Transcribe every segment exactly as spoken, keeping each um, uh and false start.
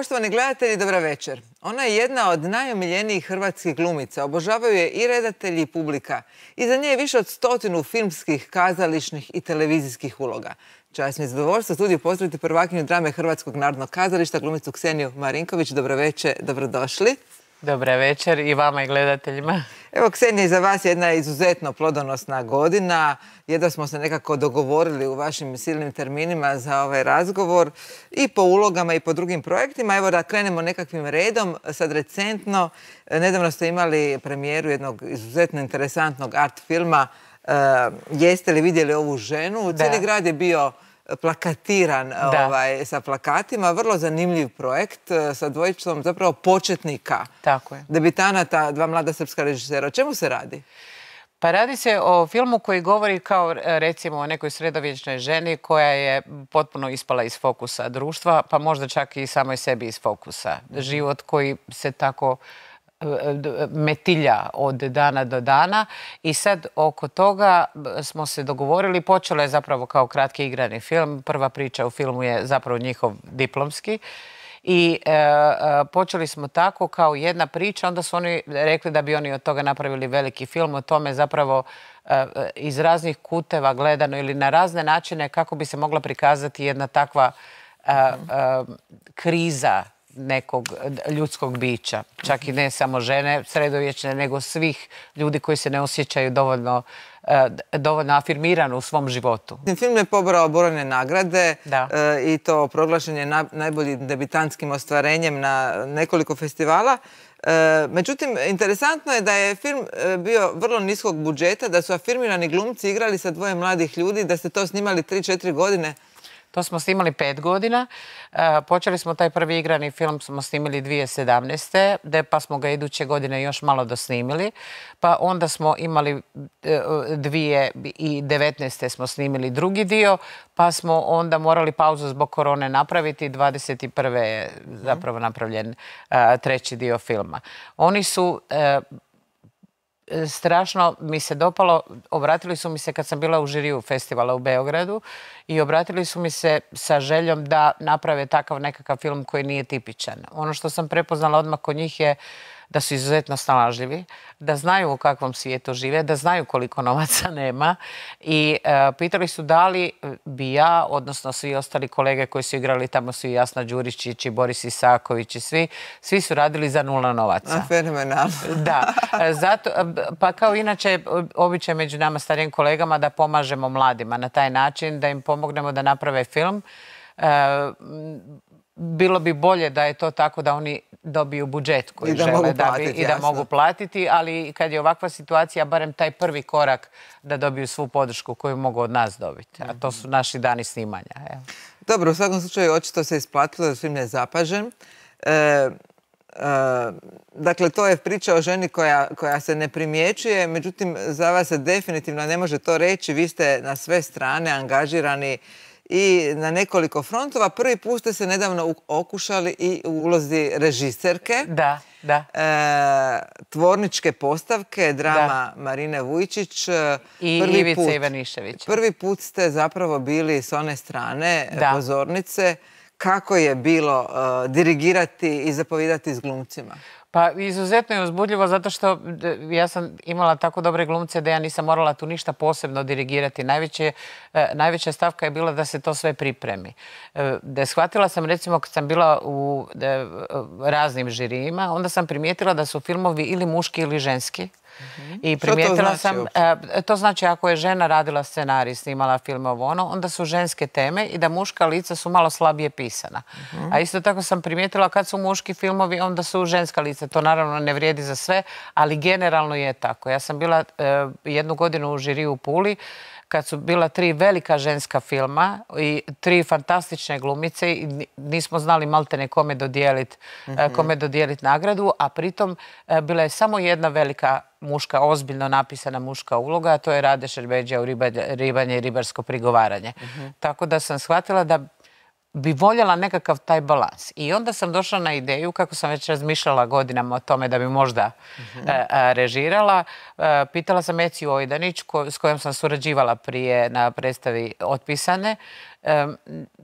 Poštovani gledatelji, dobra večer. Ona je jedna od najomiljenijih hrvatskih glumica. Obožavaju je i redatelji i publika. Iza nje je više od stotinu filmskih, kazališnih i televizijskih uloga. Čast mi je zadovoljstvo u studiju pozdraviti prvakinju drame Hrvatskog narodnog kazališta, glumicu Kseniju Marinković. Dobro večer, dobrodošli. Dobra večer i vama i gledateljima. Evo, Ksenija, za vas jedna izuzetno plodonosna godina. Jedva smo se nekako dogovorili u vašim silnim terminima za ovaj razgovor i po ulogama i po drugim projektima. Evo da krenemo nekakvim redom. Sad recentno, nedavno ste imali premijeru jednog izuzetno interesantnog art filma. Jeste li vidjeli ovu ženu? Cijeli grad je bio plakatiran ovaj, sa plakatima. Vrlo zanimljiv projekt sa dvojicom zapravo početnika. Tako je. Debitanata, dva mlada srpska režisera. O čemu se radi? Pa radi se o filmu koji govori kao recimo o nekoj sredovječnoj ženi koja je potpuno ispala iz fokusa društva, pa možda čak i samoj sebi iz fokusa. Život koji se tako metilja od dana do dana i sad oko toga smo se dogovorili. Počelo je zapravo kao kratki igrani film. Prva priča u filmu je zapravo njihov diplomski i e, e, počeli smo tako kao jedna priča. Onda su oni rekli da bi oni od toga napravili veliki film. O tome zapravo e, iz raznih kuteva gledano ili na razne načine kako bi se mogla prikazati jedna takva e, e, kriza nekog ljudskog bića. Čak i ne samo žene sredovječne, nego svih ljudi koji se ne osjećaju dovoljno, dovoljno afirmirano u svom životu. Film je pobrao brojne nagrade i to proglašen je najboljim debitantskim ostvarenjem na nekoliko festivala. Međutim, interesantno je da je film bio vrlo niskog budžeta, da su afirmirani glumci igrali sa dvoje mladih ljudi, da ste to snimali tri četiri godine. To smo snimali pet godina. Počeli smo taj prvi igrani film, smo snimili dvije tisuće sedamnaeste. pa smo ga iduće godine još malo dosnimili. Pa onda smo imali dvije tisuće devetnaeste. smo snimili drugi dio, pa smo onda morali pauzu zbog korone napraviti. dvadeset prve. je zapravo napravljen treći dio filma. Oni su... Strašno mi se dopalo, obratili su mi se kad sam bila u žiriju festivala u Beogradu i obratili su mi se sa željom da naprave takav nekakav film koji nije tipičan. Ono što sam prepoznala odmah kod njih je da su izuzetno snalažljivi, da znaju u kakvom svijetu žive, da znaju koliko novaca nema i e, pitali su da li bi ja, odnosno svi ostali kolege koji su igrali tamo, su i Jasna Đuričić i Boris Isaković i svi, svi su radili za nula novaca. Fenomenalno. Da, zato, pa kao inače običaj među nama starijim kolegama da pomažemo mladima na taj način, da im pomognemo da naprave film. E, bilo bi bolje da je to tako da oni dobiju budžet koji žele da bi i da mogu platiti, ali kad je ovakva situacija, barem taj prvi korak da dobiju svu podršku koju mogu od nas dobiti. A to su naši dani snimanja. Dobro, u svakom slučaju očito se isplatilo da film je zapažen. Dakle, to je priča o ženi koja se ne primjećuje, međutim, za vas se definitivno ne može to reći. Vi ste na sve strane angažirani i na nekoliko frontova. Prvi put ste se nedavno okušali i u ulozi režiserke. Da, da. Tvorničke postavke, drama Marine Vujčić. I Ivice Ivaniševića. Prvi put ste zapravo bili s one strane pozornice. Kako je bilo dirigirati i zapovijedati s glumcima? Pa izuzetno je uzbudljivo zato što ja sam imala tako dobre glumce da ja nisam morala tu ništa posebno dirigirati. Najveće, najveća stavka je bila da se to sve pripremi. Da shvatila sam recimo kad sam bila u raznim žirijima, onda sam primijetila da su filmovi ili muški ili ženski. I primijetila sam, to znači ako je žena radila scenarij, snimala film ovo ono, onda su ženske teme i da muška lica su malo slabije pisana. A isto tako sam primijetila kad su muški filmovi, onda su ženska lica. To naravno ne vrijedi za sve, ali generalno je tako. Ja sam bila jednu godinu u žiriju u Puli, kad su bila tri velika ženska filma i tri fantastične glumice i nismo znali maltene kome dodijeliti kome dodijeliti nagradu, a pritom bila je samo jedna velika muška, ozbiljno napisana muška uloga, a to je Rade Šerbedžija u Ribanje i ribarsko prigovaranje. Tako da sam shvatila da bi voljela nekakav taj balans. I onda sam došla na ideju, kako sam već razmišljala godinama o tome da bi možda uh-huh. a, a, režirala. A, pitala sam Eciju Ojdanić, ko, s kojom sam surađivala prije na predstavi Otpisane. Um,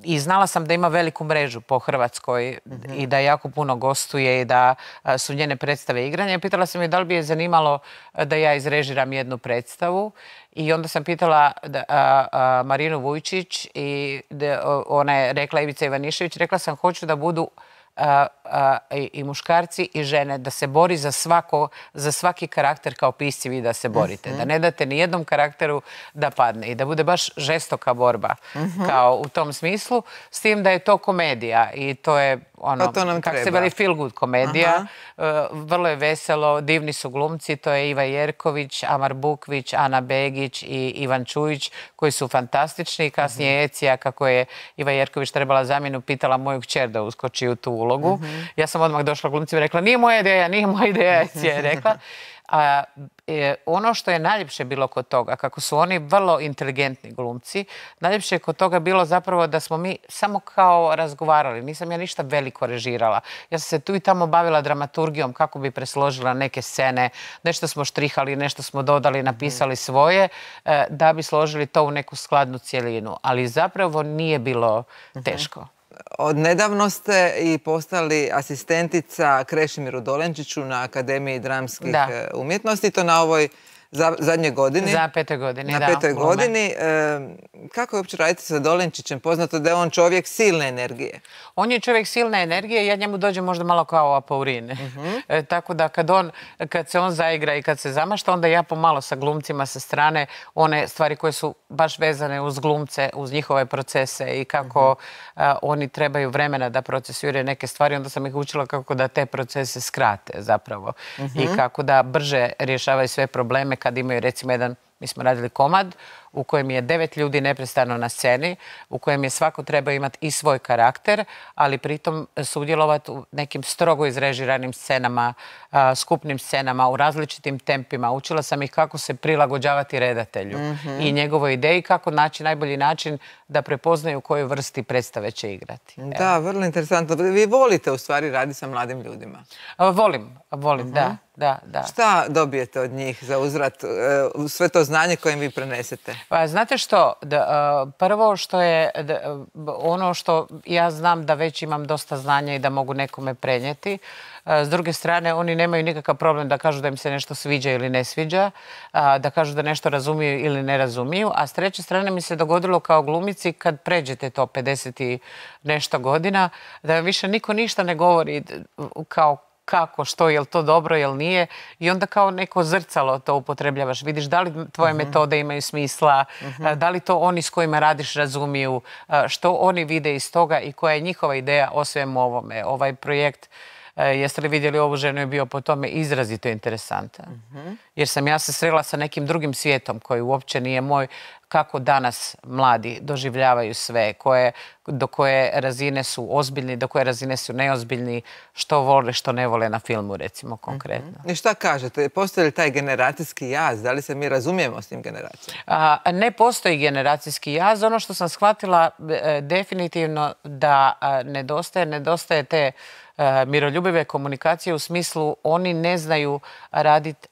I znala sam da ima veliku mrežu po Hrvatskoj uh-huh. i da jako puno gostuje i da a, su njene predstave igranje. Pitala sam je da li bi je zanimalo da ja izrežiram jednu predstavu. I onda sam pitala da, a, a, Marinu Vujčić i da, ona je rekla, Ivica Ivanišević, rekla sam hoću da budu a, a, i, i muškarci i žene, da se bori za, svako, za svaki karakter kao pisci vi da se borite. Uh-huh. Da ne date ni jednom karakteru da padne i da bude baš žestoka borba uh-huh. kao u tom smislu, s tim da je to komedija i to je ono, kako se veli feel good komedija. Uh, vrlo je veselo, divni su glumci, to je Iva Jerković, Amar Bukvić, Ana Begić i Ivan Čujić koji su fantastični. Kasnije uh-huh. Ecija, kako je Iva Jerković trebala zamjenu, pitala moju kćer da uskoči u tu ulogu. Uh-huh. Ja sam odmah došla glumcima i rekla nije moja ideja, nije moja ideja, Ecija je rekla. A, e, ono što je najljepše bilo kod toga, kako su oni vrlo inteligentni glumci, najljepše je kod toga bilo zapravo da smo mi samo kao razgovarali. Nisam ja ništa veliko režirala. Ja sam se tu i tamo bavila dramaturgijom kako bi presložila neke scene. Nešto smo štrihali, nešto smo dodali, napisali svoje e, da bi složili to u neku skladnu cjelinu. Ali zapravo nije bilo teško. Od nedavno ste i postali asistentica Krešimiru Dolenčiću na Akademiji dramskih da. umjetnosti, to na ovoj za, zadnjoj godini. Za petoj godini, na da. Na petoj godini. E, kako je uopće raditi sa Dolenčićem? Poznato da je on čovjek silne energije. On je čovjek silne energije, ja njemu dođem možda malo kao apaurin. Uh-huh. e, tako da kad, on, kad se on zaigra i kad se zamašta, onda ja pomalo sa glumcima sa strane one stvari koje su baš vezane uz glumce, uz njihove procese i kako uh-huh. a, oni trebaju vremena da procesuiraju neke stvari. Onda sam ih učila kako da te procese skrate zapravo. Uh-huh. I kako da brže rješavaju sve probleme kad imaju recimo jedan, mi smo radili komad u kojem je devet ljudi neprestano na sceni, u kojem je svako treba imati i svoj karakter, ali pritom sudjelovati u nekim strogo izrežiranim scenama, a, skupnim scenama, u različitim tempima. Učila sam ih kako se prilagođavati redatelju mm-hmm. i njegovoj ideji, kako naći najbolji način da prepoznaju koju vrsti predstave će igrati. Da, evo. Vrlo interesantno. Vi volite u stvari raditi sa mladim ljudima? A, volim, volim, mm-hmm. da. Da, da. Šta dobijete od njih za uzvrat, sve to znanje koje im vi prenesete? Pa, znate što, da, prvo što je da, ono što ja znam da već imam dosta znanja i da mogu nekome prenijeti. S druge strane, oni nemaju nikakav problem da kažu da im se nešto sviđa ili ne sviđa, da kažu da nešto razumiju ili ne razumiju. A s treće strane mi se dogodilo kao glumici kad pređete to pedeset i nešto godina, da više niko ništa ne govori kao kako, što, je li to dobro, je li nije. I onda kao neko zrcalo to upotrebljavaš. Vidiš da li tvoje uh-huh. metode imaju smisla, uh-huh. da li to oni s kojima radiš razumiju, što oni vide iz toga i koja je njihova ideja o svemu ovome. Ovaj projekt, jeste li vidjeli ovu ženu, je bio po tome izrazito interesantan. Uh-huh. Jer sam ja se srela sa nekim drugim svijetom koji uopće nije moj, kako danas mladi doživljavaju sve, koje, do koje razine su ozbiljni, do koje razine su neozbiljni, što vole, što ne vole na filmu, recimo, konkretno. Mm-hmm. I šta kažete? Postoji li taj generacijski jaz? Da li se mi razumijemo s tim generacijama? A, ne postoji generacijski jaz. Ono što sam shvatila e, definitivno da a, nedostaje, nedostaje te miroljubive komunikacije u smislu oni ne znaju raditi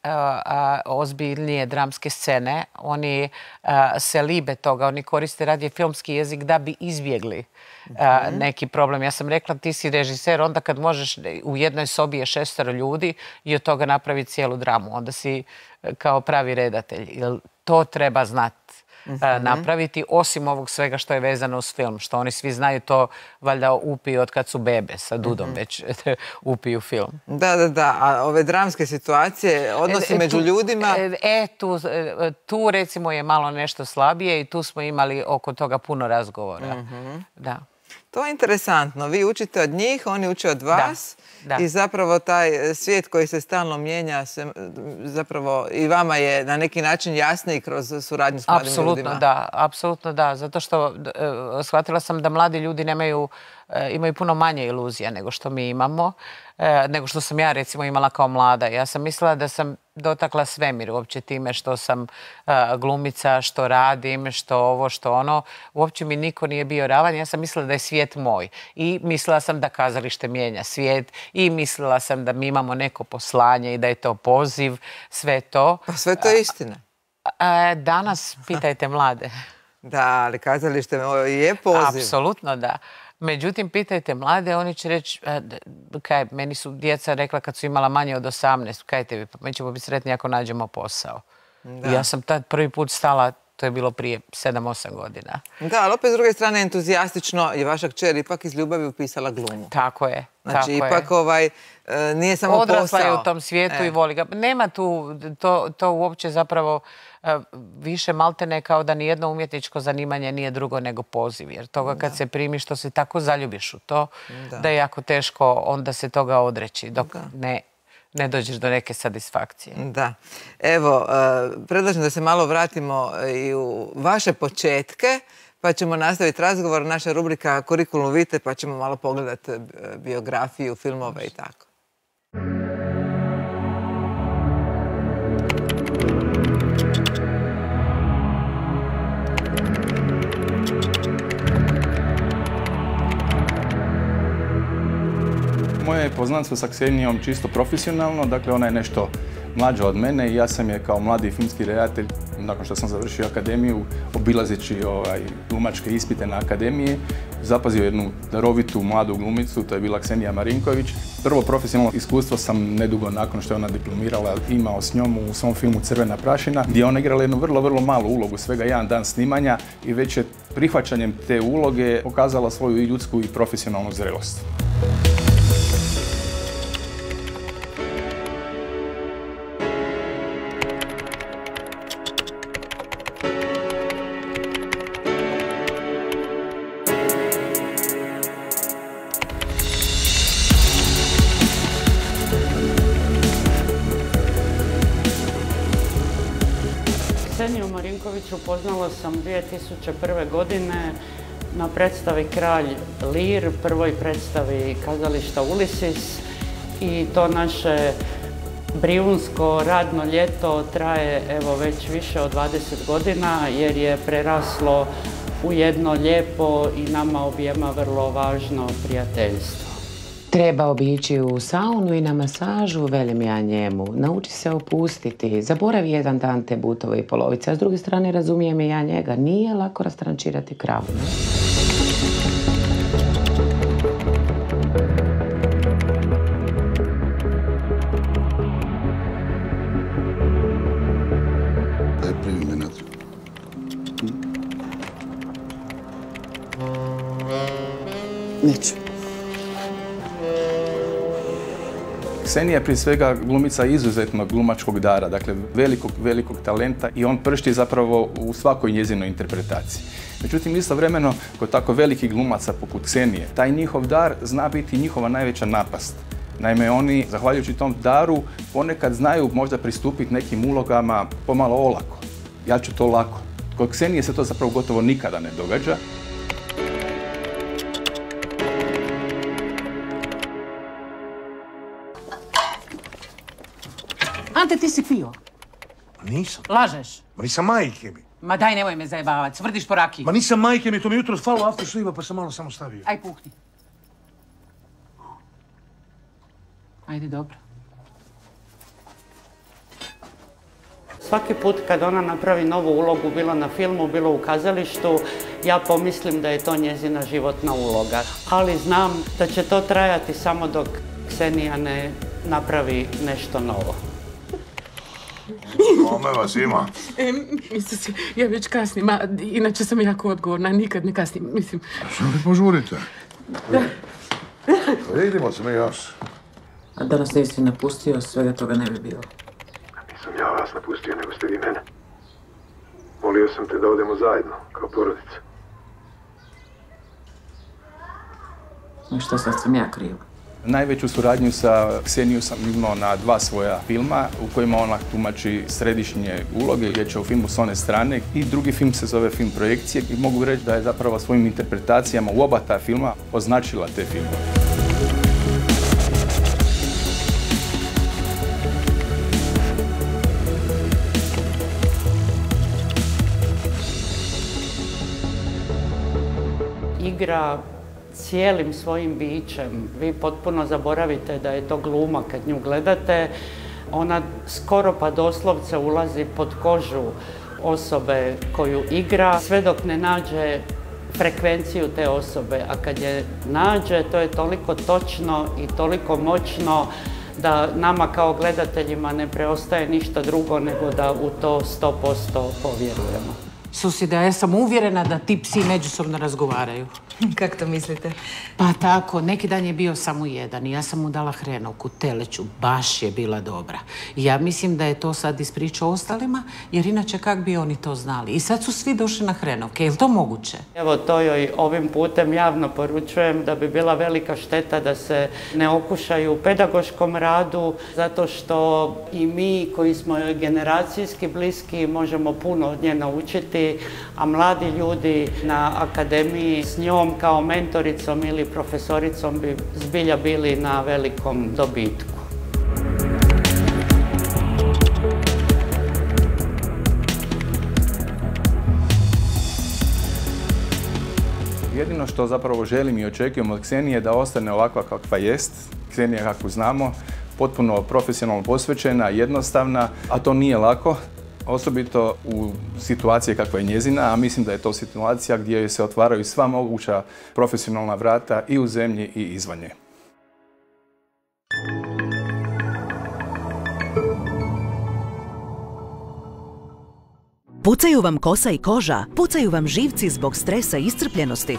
ozbiljnije dramske scene. Oni a, se libe toga. Oni koriste radije filmski jezik da bi izbjegli a, neki problem. Ja sam rekla ti si režiser, onda kad možeš u jednoj sobi je šestero ljudi i od toga napraviti cijelu dramu. Onda si kao pravi redatelj. Jer to treba znati. Uh-huh. napraviti, osim ovog svega što je vezano uz film, što oni svi znaju to valjda upiju od kad su bebe sa Dudom, uh-huh. već upiju film. Da, da, da. A ove dramske situacije, odnosi e, među tu, ljudima? E, tu, tu recimo je malo nešto slabije i tu smo imali oko toga puno razgovora. Uh-huh. Da. To je interesantno. Vi učite od njih, oni uče od vas. Da, da. I zapravo taj svijet koji se stalno mijenja, se, zapravo i vama je na neki način jasniji kroz suradnju s mladim apsolutno, ljudima. Da, apsolutno da. Zato što e, shvatila sam da mladi ljudi nemaju, e, imaju puno manje iluzija nego što mi imamo, e, nego što sam ja recimo imala kao mlada. Ja sam mislila da sam dotakla svemir uopće time što sam glumica, što radim, što ovo, što ono. Uopće mi niko nije bio ravan. Ja sam mislila da je svijet moj. I mislila sam da kazalište mijenja svijet. I mislila sam da mi imamo neko poslanje i da je to poziv. Sve to. Pa sve to je istina. Danas pitajte mlade. Da, ali kazalište je poziv. Apsolutno da. Međutim, pitajte mlade, oni će reći, kaj, meni su djeca rekla kad su imala manje od osamnaest, kaj tebi, pa mi ćemo biti sretni ako nađemo posao. I ja sam tad prvi put stala, to je bilo prije sedam osam godina. Da, ali opet s druge strane entuzijastično je vaša kćer ipak iz ljubavi upisala glumu. Tako je. Znači, ipak ovaj, nije samo posao. Odrasla je u tom svijetu i voli ga. Nema tu, to uopće zapravo više maltene kao da nijedno umjetničko zanimanje nije drugo nego poziv. Jer toga kad se primiš, što se tako zaljubiš u to, da je jako teško onda se toga odreći dok ne ne dođeš do neke satisfakcije. Da. Evo, predlažem da se malo vratimo i u vaše početke, pa ćemo nastaviti razgovor. Naša rubrika Kurikulum vitae, pa ćemo malo pogledati biografiju, filmove i tako. Moje poznanstvo sa Ksenijom čisto profesionalno, dakle ona je nešto mlađa od mene i ja sam je kao mladi filmski redatelj, nakon što sam završio akademiju, obilazeći ovaj, glumačke ispite na akademiji, zapazio jednu darovitu mladu glumicu, to je bila Ksenija Marinković. Prvo profesionalno iskustvo sam nedugo nakon što je ona diplomirala imao s njom u svom filmu Crvena prašina, gdje je ona igrala jednu vrlo, vrlo malu ulogu, svega jedan dan snimanja i već je prihvaćanjem te uloge pokazala svoju i ljudsku i profesionalnu zrelost. Kseniju Marinković upoznala sam dvije tisuće prve. godine na predstavi Kralj Lir, prvoj predstavi kazališta Ulisis, i to naše brijunsko radno ljeto traje evo već više od dvadeset godina jer je preraslo u jedno lijepo i nama objema vrlo važno prijateljstvo. Trebao bi ići u saunu i na masažu, velim ja njemu. Nauči se opustiti, zaboravi jedan dan te butove i polovice, a s druge strane razumijem i ja njega. Nije lako rastrančirati kravu. Daj, primi me natrag. Neću. Ksenija je prije svega glumica izuzetnog glumačkog dara, dakle velikog, velikog talenta i on pršti zapravo u svakoj njezinoj interpretaciji. Međutim, istovremeno, kod tako velikih glumaca poput Ksenije, taj njihov dar zna biti njihova najveća napast. Naime, oni, zahvaljujući tom daru, ponekad znaju možda pristupiti nekim ulogama pomalo olako. Ja ću to lako. Kod Ksenije se to zapravo gotovo nikada ne događa. Ante, ti si pio. Nisam. Lažeš. Ma nisam majke mi. Ma daj, nemoj me zajebavati, svrdiš po rakiji. Ma nisam majke mi, to mi jutro falo aftershave pa sam malo samo stavio. Aj, puhni. Ajde, dobro. Svaki put kad ona napravi novu ulogu, bilo na filmu, bilo u kazalištu, ja pomislim da je to njezina životna uloga. Ali znam da će to trajati samo dok Ksenija ne napravi nešto novo. Kome vas ima? E, mislim, ja već kasnim, a inače sam jako odgovorna, nikad ne kasnim, mislim. Što vi požurite? Vidimo se mi još. A da nas nisi napustio, svega toga ne bi bilo. Nisam ja vas napustio, nego ste vi mene. Molio sam te da odemo zajedno, kao porodica. I što sad sam ja kriva? Najveću suradnju sa Ksenijom sam imao na dva svoja filma u kojima ona tumači središnje uloge. Riječ je o filmu S one strane i drugi film se zove Film projekcije i mogu reći da je zapravo svojim interpretacijama u oba ta filma označila te filmove. igra cijelim svojim bićem. Vi potpuno zaboravite da je to gluma kad nju gledate. Ona skoro pa doslovce ulazi pod kožu osobe koju igra, sve dok ne nađe frekvenciju te osobe. A kad je nađe, to je toliko točno i toliko moćno da nama kao gledateljima ne preostaje ništa drugo nego da u to sto posto povjerujemo. Susjeda, ja sam uvjerena da ti psi međusobno razgovaraju. Kako to mislite? Pa tako, neki dan je bio samo jedan i ja sam mu dala hrenovku, teleću, baš je bila dobra. I ja mislim da je to sad ispričao ostalima, jer inače kak bi oni to znali. I sad su svi došli na hrenovke, je li to moguće? Evo, to joj ovim putem javno poručujem da bi bila velika šteta da se ne okušaju u pedagoškom radu, zato što i mi koji smo joj generacijski bliski možemo puno od nje naučiti, a mladi ljudi na akademiji s njom kao mentoricom ili profesoricom bi zbilja bili na velikom dobitku. Jedino što zapravo želim i očekujem od Ksenije da ostane ovakva kakva jest, Ksenija kakvu znamo, potpuno profesionalno posvećena, jednostavna, a to nije lako. Osobito u situaciji kakva je njezina, a mislim da je to situacija gdje se otvaraju sva moguća profesionalna vrata i u zemlji i izvan nje. Pucaju vam kosa i koža, pucaju vam živci zbog stresa i iscrpljenosti.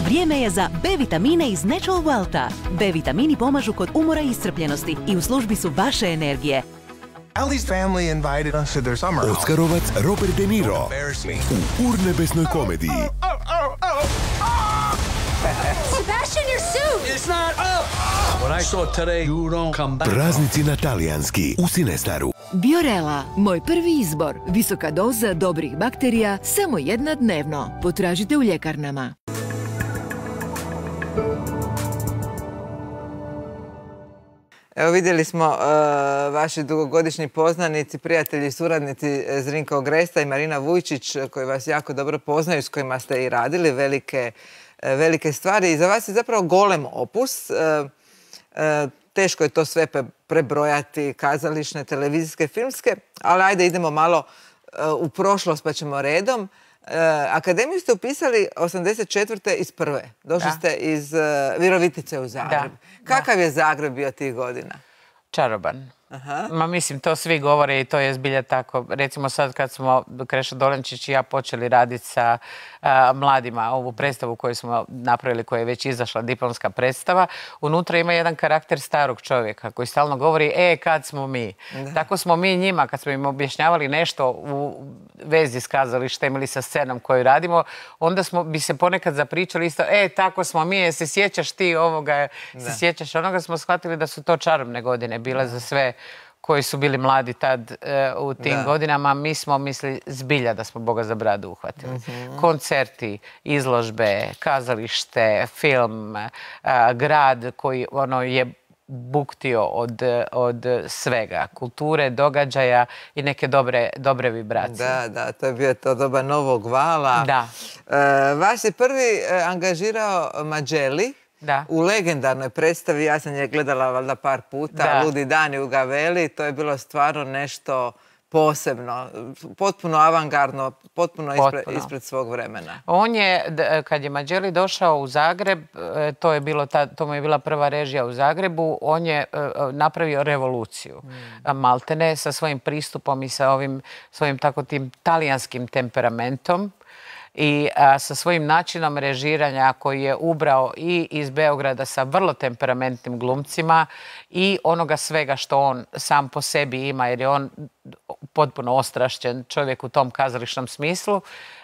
Vrijeme je za B vitamine iz Natural Welta. B vitamini pomažu kod umora i iscrpljenosti i u službi su vaše energije. Ali's family invited us to their summer home. Oskarovac Robert De Niro u urnebesnoj komediji. Sebastian, your suit! It's not up! What I saw today, you don't come back. Praznici na talijanski u Cinestaru. Biorela, moj prvi izbor. Visoka doza dobrih bakterija, samo jedna dnevno. Potražite u ljekarnama. Evo vidjeli smo uh, vaši dugogodišnji poznanici, prijatelji i suradnici Zrinka Ogresta i Marina Vujčić koji vas jako dobro poznaju, s kojima ste i radili velike, velike stvari. I za vas je zapravo golem opus. Uh, uh, teško je to sve prebrojati, kazališne, televizijske, filmske, ali ajde idemo malo uh, u prošlost pa ćemo redom. Uh, akademiju ste upisali osamdeset četvrte iz prve. Došli Da. ste iz uh, Virovitice u Zagreb. Da. Kakav je Zagreb bio tih godina? Čaroban. Aha. Ma mislim, to svi govore i to je zbilja tako. Recimo sad kad smo Krešo Dolenčić i ja počeli raditi sa a, mladima ovu predstavu koju smo napravili, koja je već izašla, diplomska predstava, unutra ima jedan karakter starog čovjeka koji stalno govori, e, kad smo mi. Da. Tako smo mi njima, kad smo im objašnjavali nešto u vezi s kazalištem ili sa scenom koju radimo, onda smo bi se ponekad zapričali isto, e, tako smo mi, se sjećaš ti ovoga, se sjećaš onoga, smo shvatili da su to čarobne godine bile za sve koji su bili mladi tad e, u tim Da. godinama. Mi smo mislili zbilja da smo Boga za bradu uhvatili. Mhm. Koncerti, izložbe, kazalište, film, a, grad koji ono je buktio od, od svega. Kulture, događaja i neke dobre, dobre vibracije. Da, da, to je bio to doba novog vala. Da. E, vas je prvi e, angažirao Mađeli. Da. U legendarnoj predstavi, ja sam je gledala valjda par puta, Da. Ludi dani u Gaveli, to je bilo stvarno nešto posebno, potpuno avangardno, potpuno ispred, Potpuno. ispred svog vremena. On je, d- kad je Mađeli došao u Zagreb, e, to je bilo ta, to mu je bila prva režija u Zagrebu, on je e, e, napravio revoluciju. A maltene sa svojim pristupom i sa ovim svojim tako tim talijanskim temperamentom i a, sa svojim načinom režiranja koji je ubrao i iz Beograda sa vrlo temperamentnim glumcima i onoga svega što on sam po sebi ima, jer je on potpuno ostrašćen čovjek u tom kazališnom smislu.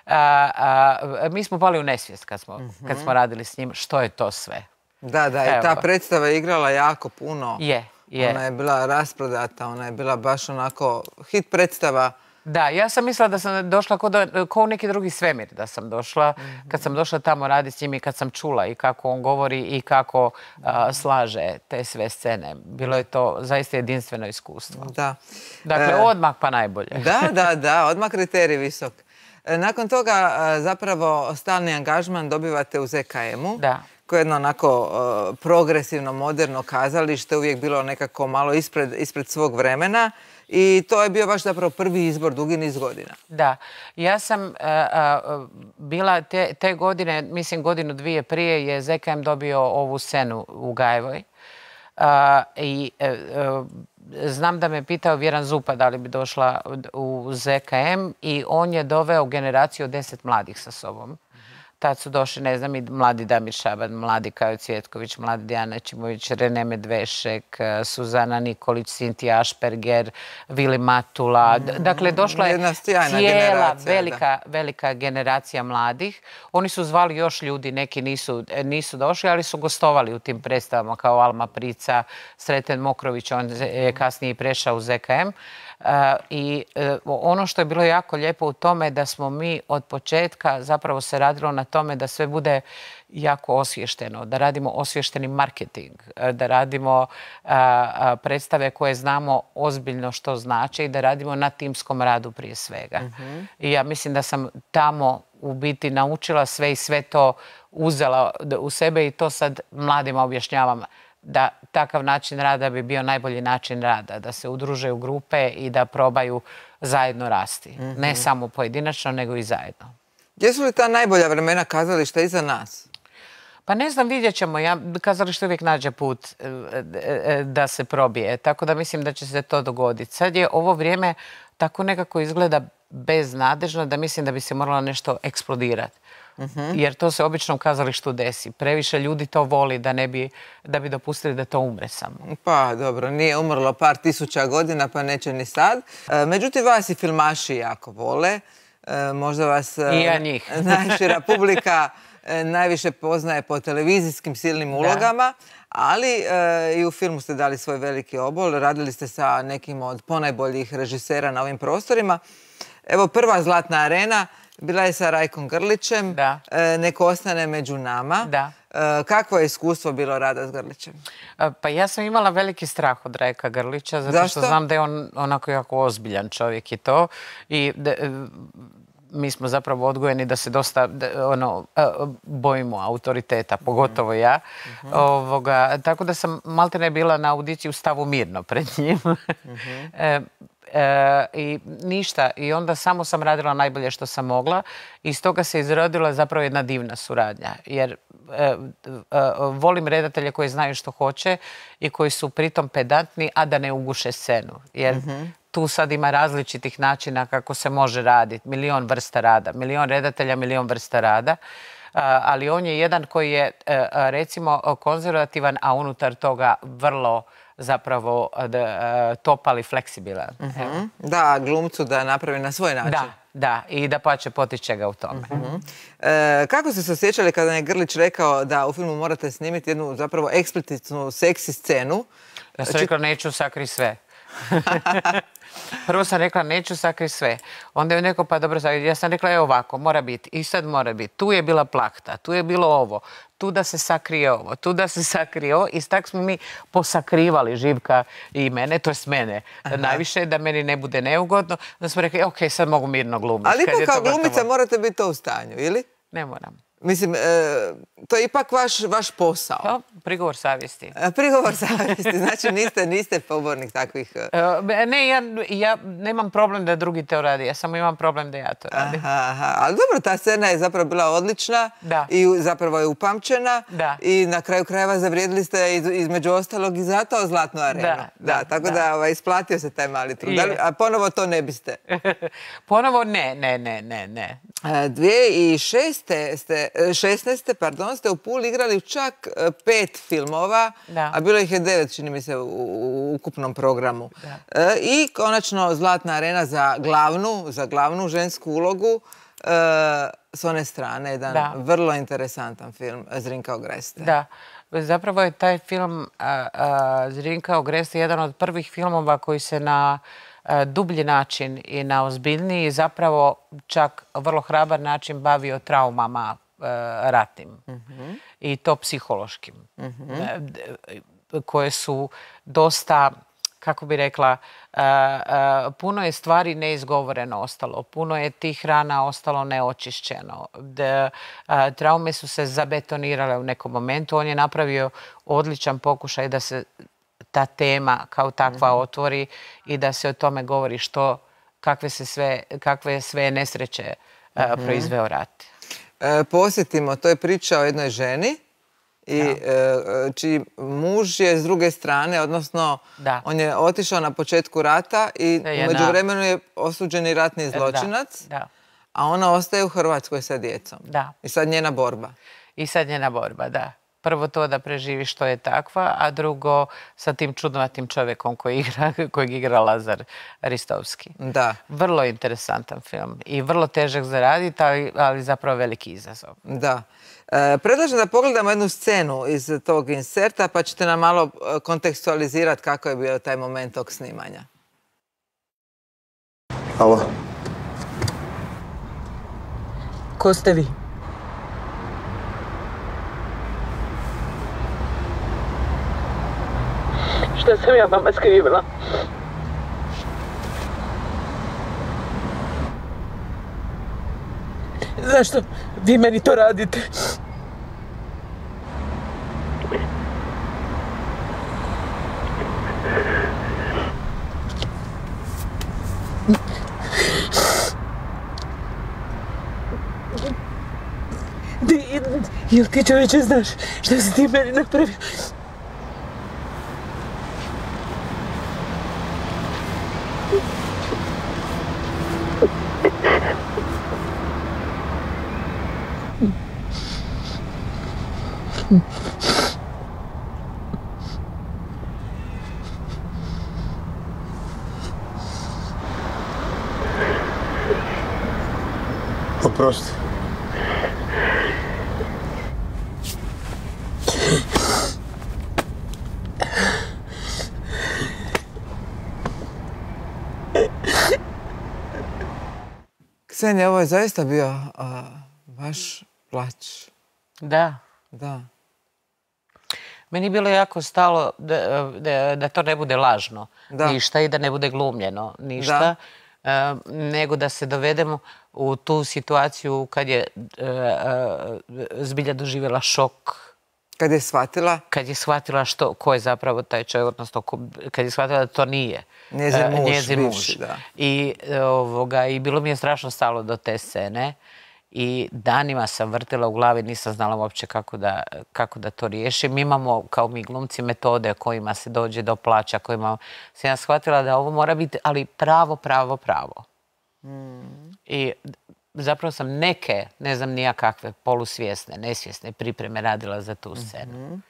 A, a, mi smo pali u nesvijest kad smo, kad smo radili s njim. Što je to sve? Da, da, i ta Evo. predstava je igrala jako puno. Je, je. Ona je bila rasprodata, ona je bila baš onako hit predstava. Da, ja sam mislila da sam došla ko, da, ko u neki drugi svemir da sam došla. Kad sam došla tamo raditi s njim i kad sam čula i kako on govori i kako a, slaže te sve scene. Bilo je to zaista jedinstveno iskustvo. Da. Dakle, E, odmah pa najbolje. Da, da, da, odmah kriterij visok. Nakon toga zapravo stalni angažman dobivate u Z K M-u. Da. Koje je jedno onako progresivno, moderno kazalište, uvijek bilo nekako malo ispred svog vremena. I to je bio baš zapravo prvi izbor dugi niz godina. Da. Ja sam bila te godine, mislim godinu dvije prije, je Z K M dobio ovu scenu u Gajevoj. I znam da me pitao Vjeran Zupa da li bi došla u Z K M i on je doveo generaciju od deset mladih sa sobom. Tad su došli, ne znam, i mladi Damir Šaban, mladi Kajo Cvjetković, mladi Dijana Čimović, Rene Medvešek, Suzana Nikolić, Sintija Ašperger, Vili Matula. Dakle, došla je cijela velika, velika generacija mladih. Oni su zvali još ljudi, neki nisu, nisu došli, ali su gostovali u tim predstavama kao Alma Prica, Sreten Mokrović, on je kasnije prešao u Z K M. I ono što je bilo jako lijepo u tome je da smo mi od početka zapravo se radilo na tome da sve bude jako osvješteno, da radimo osvješteni marketing, da radimo predstave koje znamo ozbiljno što znači i da radimo na timskom radu prije svega. I ja mislim da sam tamo u biti naučila sve i sve to uzela u sebe i to sad mladima objašnjavam da takav način rada bi bio najbolji način rada, da se udruže u grupe i da probaju zajedno rasti. Ne samo pojedinačno, nego i zajedno. Jesu li ta najbolja vremena kazališta iza nas? Pa ne znam, vidjet ćemo. Kazalište uvijek nađe put da se probije, tako da mislim da će se to dogoditi. Sad je ovo vrijeme tako nekako izgleda beznadežno da mislim da bi se moralo nešto eksplodirati. Jer to se obično u kazalištu desi. Previše ljudi to voli da bi dopustili da to umre samo. Pa dobro, nije umrlo par tisuća godina pa neće ni sad. Međutim, vas i filmaši jako vole. Možda vas najšira publika najviše poznaje po televizijskim silnim ulogama, ali i u filmu ste dali svoj veliki obol. Radili ste sa nekim od ponajboljih režisera na ovim prostorima. Evo, prva Zlatna arena bila je sa Rajkom Grlićem, Neko ostane među nama. Kakvo je iskustvo bilo rada s Grlićem? Pa ja sam imala veliki strah od Rajka Grlića, zato što znam da je on onako jako ozbiljan čovjek i to. I mi smo zapravo odgojeni da se dosta bojimo autoriteta, pogotovo ja. Tako da sam maltene bila na audiciji u stavu mirno pred njim. I ništa. I onda samo sam radila najbolje što sam mogla i iz toga se izrodila zapravo jedna divna suradnja. Jer volim redatelje koji znaju što hoće i koji su pritom pedantni, a da ne uguše scenu. Jer tu sad ima različitih načina kako se može raditi. Milion vrsta rada. Milion redatelja, milion vrsta rada. Ali on je jedan koji je, recimo, konzervativan, a unutar toga vrlo zapravo topal i fleksibilan. Da, glumcu da napravi na svoj način. Da, da, i da pače potiče ga u tome. Kako ste se osjećali kada je Grlić rekao da u filmu morate snimiti jednu zapravo eksplicitnu seksi scenu? Ja sam rekla neću sakri sve. Prvo sam rekla neću sakri sve. Onda je neko pa dobro, ja sam rekla evo ovako, mora biti i sad mora biti. Tu je bila plahta, tu je bilo ovo, tu da se sakrije ovo, tu da se sakrije ovo i tako smo mi posakrivali Živka i mene, to jest mene. Najviše da meni ne bude neugodno. Da smo rekli ok, sad mogu mirno glumiti. Ali ipak kao glumica morate biti to u stanju, ili? Ne moram. Mislim, to je ipak vaš posao. Prigovor savjesti. Prigovor savjesti, znači niste pobornik takvih... Ne, ja nemam problem da drugi to radi, ja samo imam problem da ja to radim. Ali dobro, ta scena je zapravo bila odlična i zapravo je upamćena i na kraju krajeva zavrijedili ste između ostalog i zato Zlatnu arenu. Da, tako da isplatio se taj mali trud. A ponovo to ne biste? Ponovo ne, ne, ne, ne, ne. dvije tisuće šesnaeste. pardon, ste u Puli igrali čak pet filmova, a bilo ih je devet, čini mi se, u ukupnom programu. I konačno Zlatna arena za glavnu, za glavnu žensku ulogu s one strane. Jedan vrlo interesantan film, Zrinka Ogreste. Da. Zapravo je taj film Zrinka Ogreste jedan od prvih filmova koji se na dublji način i na ozbiljniji, zapravo čak vrlo hrabar način bavio traumama ratnim i to psihološkim, koje su dosta kako bi rekla, puno je stvari neizgovoreno ostalo, puno je tih rana ostalo neočišćeno. Traume su se zabetonirale u nekom momentu. On je napravio odličan pokušaj da se ta tema kao takva otvori i da se o tome govori što, kakve se sve, kakve sve nesreće proizveo rat. Posjetimo, to je priča o jednoj ženi i čiji muž je s druge strane, odnosno on je otišao na početku rata i u međuvremenu je osuđeni ratni zločinac, a ona ostaje u Hrvatskoj sa djecom. I sad njena borba. I sad njena borba, da. Prvo to da preživi što je takva, a drugo sa tim čudnovatim čovjekom kojeg igra Lazar Ristovski. Da. Vrlo interesantan film i vrlo težak za raditi, ali zapravo veliki izazov. Da. Predlažem da pogledamo jednu scenu iz tog inserta, pa ćete nam malo kontekstualizirati kako je bio taj moment tog snimanja. Alo. Ko ste vi? Šta sam ja vama skrivila? Zašto vi meni to radite? Jel ti čovječe znaš šta si ti meni napravio? Oprosti. Ksenija, ovo je zaista bio vaš plać. Da. Da. Meni je bilo jako stalo da to ne bude lažno ništa i da ne bude glumljeno ništa, nego da se dovedemo u tu situaciju kad je zbilja doživjela šok. Kad je shvatila? Kad je shvatila ko je zapravo taj čovjek, odnosno kad je shvatila da to nije njezin muž. I bilo mi je strašno stalo do te scene. I danima sam vrtila u glavi, nisam znala uopće kako da to riješim. Mi imamo, kao mi glumci, metode kojima se dođe do plaća, kojima sam ja shvatila da ovo mora biti, ali pravo, pravo, pravo. I zapravo sam neke, ne znam nija kakve, polusvjesne, nesvjesne pripreme radila za tu scenu.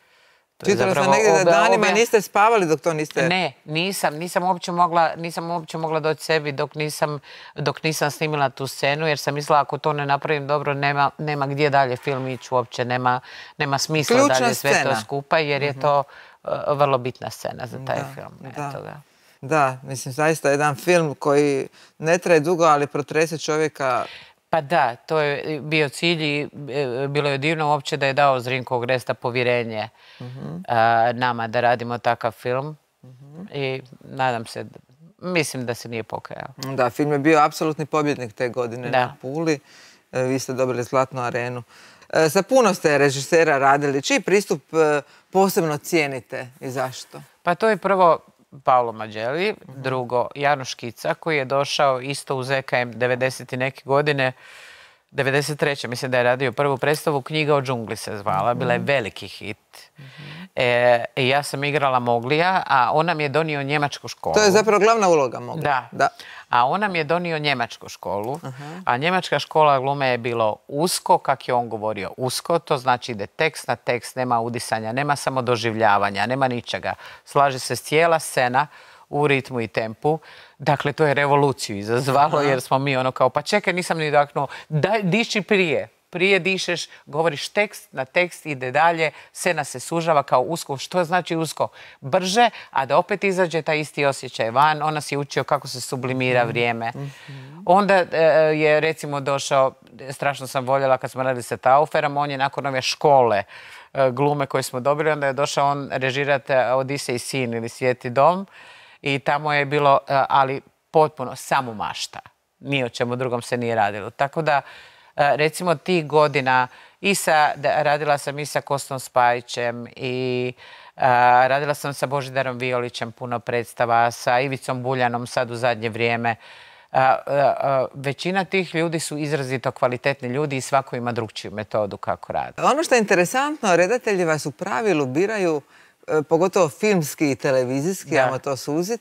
Čitala sam negdje da danima niste spavali dok to niste... Ne, nisam. Nisam uopće mogla, nisam uopće mogla doći sebi dok nisam, dok nisam snimila tu scenu, jer sam mislila ako to ne napravim dobro, nema, nema gdje dalje film ići uopće, nema, nema smisla Ključna dalje sve scena. to skupa, jer je to uh, vrlo bitna scena za taj Da, film. da. Eto ga. Da, mislim, zaista jedan film koji ne traje dugo, ali protrese čovjeka. Pa da, to je bio cilj i bilo je divno uopće da je dao Zrinko Gresta povjerenje nama da radimo takav film i nadam se, mislim da se nije pokajao. Da, film je bio apsolutni pobjednik te godine na Puli. Vi ste dobili Zlatnu arenu. Sa puno ste režisera radili. Čiji pristup posebno cijenite i zašto? Pa to je prvo Paolo Mađeli, drugo Janoš Kica koji je došao isto u Z K M devedeset i neke godine, devedeset treće mislim da je radio prvu predstavu, Knjiga o džungli se zvala, bila je veliki hit. I ja sam igrala Moglija, a on nam je donio njemačku školu. To je zapravo glavna uloga Moglija. Da. A on nam je donio njemačku školu, a njemačka škola glume je bilo usko, kak je on govorio usko, to znači ide tekst na tekst, nema udisanja, nema samo doživljavanja, nema ničega. Slaže se cijela scena u ritmu i tempu. Dakle, to je revoluciju izazvalo jer smo mi ono kao, pa čekaj, nisam ni daknuo, diši prije. Prije dišeš, govoriš tekst na tekst, ide dalje, scena se sužava kao usko. Što znači usko? Brže, a da opet izađe taj isti osjećaj van. Ona si učio kako se sublimira vrijeme. Onda je recimo došao, strašno sam voljela kad smo radili sa Tauferom, on je nakon ove škole glume koje smo dobili, onda je došao on režirati Odisej sin ili Svijeti dom. i tamo je bilo, ali potpuno samo mašta. Ni o čemu drugom se nije radilo. Tako da, recimo, tih godina i sa, radila sam i sa Kostom Spajićem i radila sam sa Božidarom Violićem puno predstava, sa Ivicom Buljanom sad u zadnje vrijeme. Većina tih ljudi su izrazito kvalitetni ljudi i svako ima drugčiju metodu kako radi. Ono što je interesantno, redatelji vas u pravilu biraju, pogotovo filmski i televizijski, ajmo to suzit,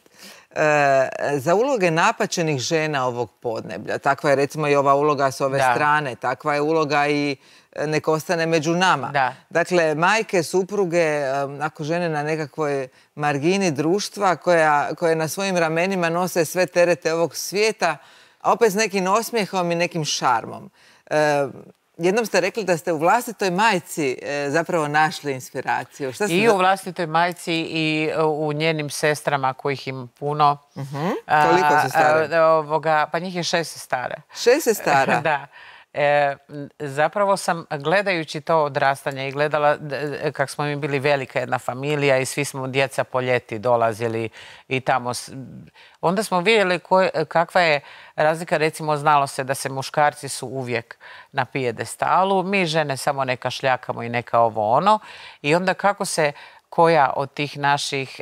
za uloge napaćenih žena ovog podneblja. Takva je recimo i ova uloga s ove strane, takva je uloga i Nek ostane među nama. Dakle, majke, supruge, ako žene na nekakvoj margini društva koje na svojim ramenima nose sve terete ovog svijeta, a opet s nekim osmijehom i nekim šarmom. Jednom ste rekli da ste u vlastitoj majci zapravo našli inspiraciju. I u vlastitoj majci i u njenim sestrama, kojih ima puno. Koliko su stare? Pa njih je šest sestara. Šest sestara? Da. Zapravo sam, gledajući to odrastanje i gledala kako smo mi bili velika jedna familija i svi smo djeca po ljeti dolazili i tamo, onda smo vidjeli kakva je razlika. Recimo, znalo se da se muškarci su uvijek na pijedestalu, mi žene samo neka šljakamo i neka ovo ono, i onda kako se koja od tih naših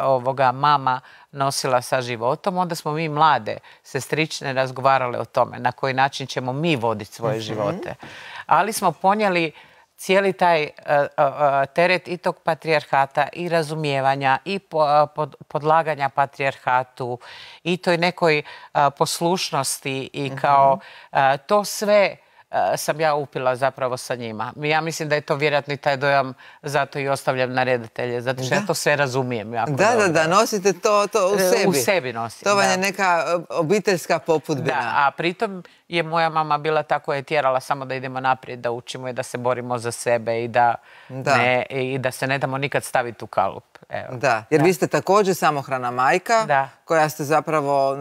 ovoga mama nosila sa životom, onda smo mi mlade sestrične razgovarale o tome na koji način ćemo mi voditi svoje živote. Ali smo ponijeli cijeli taj teret i tog patrijarhata i razumijevanja i podlaganja patrijarhatu i toj nekoj poslušnosti i kao to sve sam ja upila zapravo sa njima. Ja mislim da je to vjerojatno i taj dojam, zato i ostavljam na redatelje, zato što ja to sve razumijem. Da, da, da, nosite to u sebi. U sebi nosim, da. To vam je neka obiteljska popudbina. Da, a pritom je moja mama bila tako, je tjerala samo da idemo naprijed, da učimo i da se borimo za sebe i da, ne, i da se ne damo nikad staviti u kalup. Evo. Da, jer da. Vi ste također samohrana majka, da. koja ste zapravo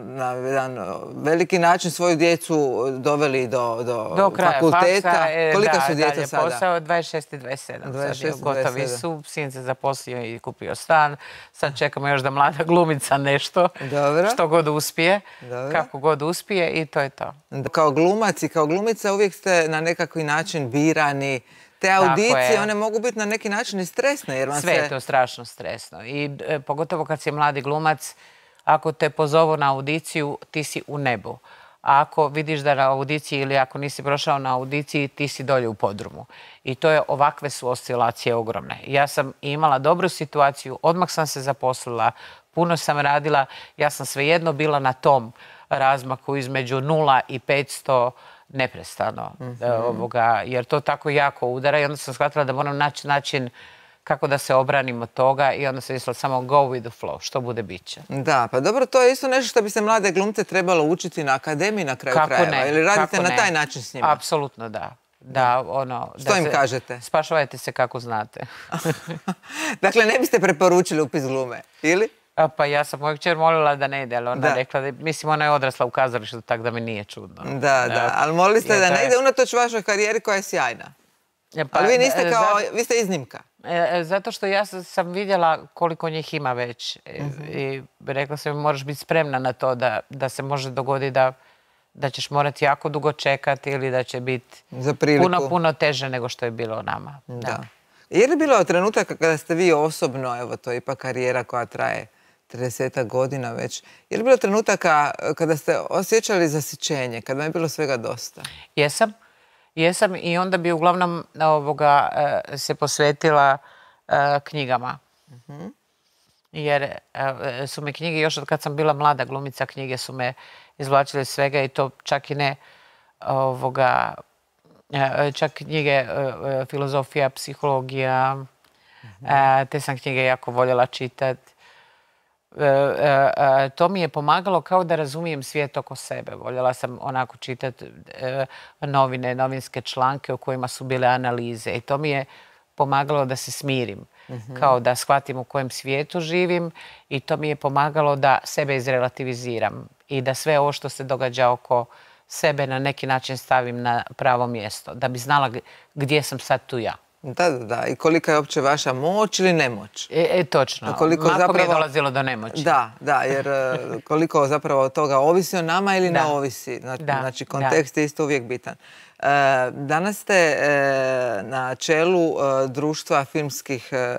na jedan veliki način svoju djecu doveli do, do, do kraja fakulteta. Faksa, e, Kolika da, su djeca dalje, sada? Posao dvadeset šest i dvadeset sedam. dvadeset šest i Sad gotovi dvadeset sedam. su, sin se zaposlio i kupio stan. Sad čekamo još da mlada glumica nešto, Dobro. što god uspije, Dobro. kako god uspije i to je to. Kao glumac i kao glumica uvijek ste na nekakvi način birani. Te audicije, one mogu biti na neki način i stresne. Jer vam Sve se... je to strašno stresno. I e, pogotovo kad si mladi glumac, ako te pozovu na audiciju, ti si u nebu. A ako vidiš da na audiciji ili ako nisi prošao na audiciji, ti si dolje u podrumu. I to je, ovakve su oscilacije ogromne. Ja sam imala dobru situaciju, odmah sam se zaposlila, puno sam radila, ja sam svejedno bila na tom razmaku između nula i petsto neprestano, ovoga, jer to tako jako udara i onda sam shvatila da moram naći način kako da se obranim od toga i onda sam mislila samo go with the flow, što bude bit će. Da, pa dobro, to je isto nešto što bi se mlade glumce trebalo učiti na akademiji na kraju krajeva. Ili radite na taj način s njima? Apsolutno da. Da, ono, što im kažete? Spašavajte se kako znate. Dakle, ne biste preporučili upis glume, ili? Pa ja sam moju kćer molila da ne ide, ali ona rekla da, mislim, ona je odrasla u kazalištu, tako da mi nije čudno. Da, da, ali molili ste da ne ide unatoč vašoj karijeri koja je sjajna. Ali vi niste kao, vi ste iznimka. Zato što ja sam vidjela koliko njih ima već i rekla sam mi moraš biti spremna na to da se može dogoditi da ćeš morati jako dugo čekati ili da će biti puno, puno teže nego što je bilo nama. Da. Je li bilo trenutaka kada ste vi osobno, evo to je ipak karijera koja traje trideset godina već, je li bilo trenutaka kada ste osjećali zasićenje, kada vam je bilo svega dosta? Jesam. Jesam i onda bi uglavnom ovoga, se posvetila knjigama. Jer su me knjige, još od kad sam bila mlada glumica, knjige su me izvlačile svega i to čak i ne ovoga, čak knjige filozofija, psihologija, te sam knjige jako voljela čitati. To mi je pomagalo kao da razumijem svijet oko sebe. Voljela sam onako čitati novine, novinske članke u kojima su bile analize i to mi je pomagalo da se smirim, kao da shvatim u kojem svijetu živim i to mi je pomagalo da sebe izrelativiziram i da sve ovo što se događa oko sebe na neki način stavim na pravo mjesto, da bi znala gdje sam sad tu ja. Da, da, da. I kolika je uopće vaša moć ili nemoć? E, e točno. Koliko Mahom zapravo... je dolazilo do nemoći. Da, da, jer koliko zapravo od toga ovisi o nama ili da. ne ovisi. Znači, da. znači kontekst da. je isto uvijek bitan. E, danas ste e, na čelu e, društva filmskih e,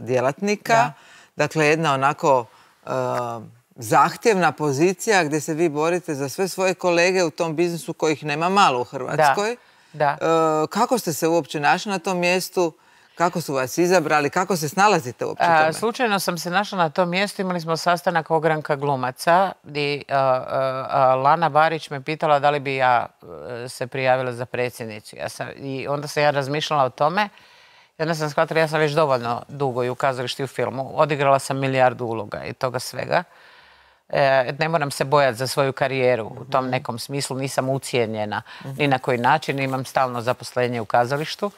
djelatnika. Da. Dakle, jedna onako e, zahtjevna pozicija gdje se vi borite za sve svoje kolege u tom biznisu kojih nema malo u Hrvatskoj. Da. Da. E, kako ste se uopće našli na tom mjestu? Kako su vas izabrali? Kako se snalazite uopće tome? A, slučajno sam se našla na tom mjestu. Imali smo sastanak ogranka glumaca i a, a, Lana Barić me pitala da li bi ja se prijavila za predsjednicu. Ja sam, i onda sam ja razmišljala o tome. I onda sam shvatila, ja sam već dovoljno dugo i u kazalištu i u filmu. Odigrala sam milijardu uloga i toga svega. E, ne moram se bojati za svoju karijeru. U tom nekom smislu nisam ucijenjena ni na koji način. Imam stalno zaposlenje u kazalištu.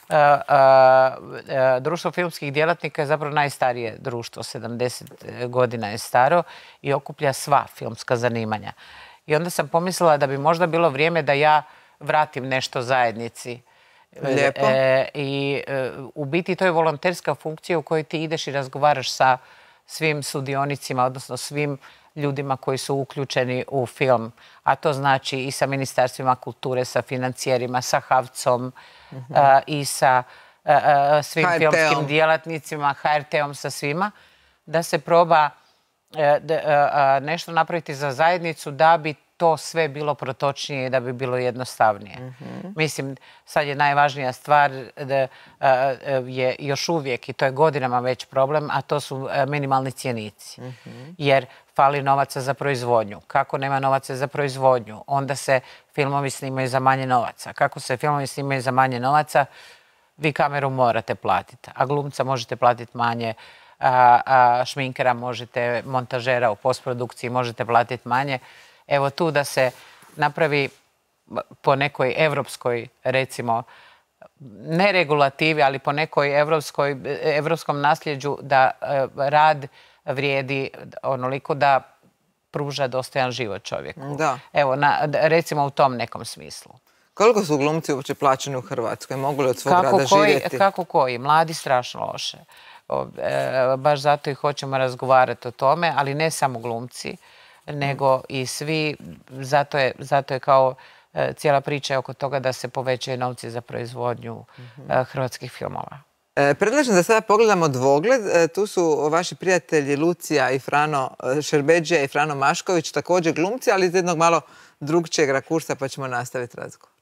Uh, uh, društvo filmskih djelatnika je zapravo najstarije društvo, sedamdeset godina je staro i okuplja sva filmska zanimanja. I onda sam pomislila da bi možda bilo vrijeme da ja vratim nešto zajednici. Lijepo. E, I uh, u biti to je volonterska funkcija u kojoj ti ideš i razgovaraš sa svim sudionicima, odnosno svim ljudima koji su uključeni u film. A to znači i sa ministarstvima kulture, sa financijerima, sa HAVC-om, Uh, i sa uh, uh, svim H R T-om. filmskim djelatnicima, H R T-om, sa svima, da se proba uh, da, uh, nešto napraviti za zajednicu da bi to sve bilo protočnije i da bi bilo jednostavnije. Mm-hmm. Mislim, sad je najvažnija stvar da uh, je još uvijek, i to je godinama već problem, a to su uh, minimalni cjenici. Mm-hmm. Jer fali novaca za proizvodnju. Kako nema novaca za proizvodnju? Onda se filmovi snimaju za manje novaca. Kako se filmovi snimaju za manje novaca? Vi kameru morate platiti, a glumca možete platiti manje, a, a šminkera možete, montažera u postprodukciji možete platiti manje. Evo tu da se napravi po nekoj evropskoj, recimo, ne regulativi, ali po nekoj evropskoj, evropskom nasljeđu da rad vrijedi onoliko da pruža dostojan život čovjeku. Da. Evo, na, recimo u tom nekom smislu. Koliko su glumci uopće plaćeni u Hrvatskoj? Mogu li od svog kako rada koji, živjeti? Kako koji? Mladi strašno loše. O, e, baš zato i hoćemo razgovarati o tome, ali ne samo glumci, nego i svi. Zato je, zato je kao e, cijela priča oko toga da se povećaju novci za proizvodnju mm-hmm. e, hrvatskih filmova. E, predlažem da sada pogledamo dvogled. E, tu su vaši prijatelji Lucija i Frano Šerbedžija i Frano Mašković, također glumci, ali iz jednog malo drugčijeg rakursa, pa ćemo nastaviti razgovor.